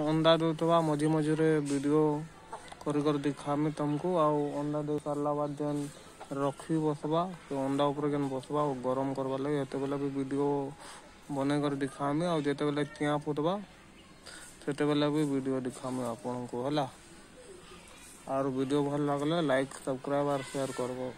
ଅଣ୍ଡା ଦଉଥିବା ମଝି ମଝିରେ ଭିଡ଼ିଓ କରି କରି ଦେଖାମି ତମକୁ। ଆଉ ଅଣ୍ଡା ଦେଇ ସାରିଲା ବାଦ ଯେନ୍ ରଖି ବସବା, ସେ ଅଣ୍ଡା ଉପରେ ଯେନ୍ ବସବା ଆଉ ଗରମ କରବାର୍ ଲାଗି, ହେତେବେଲେ ବି ଭିଡ଼ିଓ ବନେଇ କରି ଦେଖାମି। ଆଉ ଯେତେବେଲେ ଚିଆଁ ଫୁଟବା, ସେତେବେଲେ ବି ଭିଡ଼ିଓ ଦେଖାମି ଆପଣଙ୍କୁ, ହେଲା। ଆରୁ ଭିଡ଼ିଓ ଭଲ ଲାଗଲେ ଲାଇକ୍, ସବସ୍କ୍ରାଇବ୍ ଆର୍ ସେୟାର କରବ।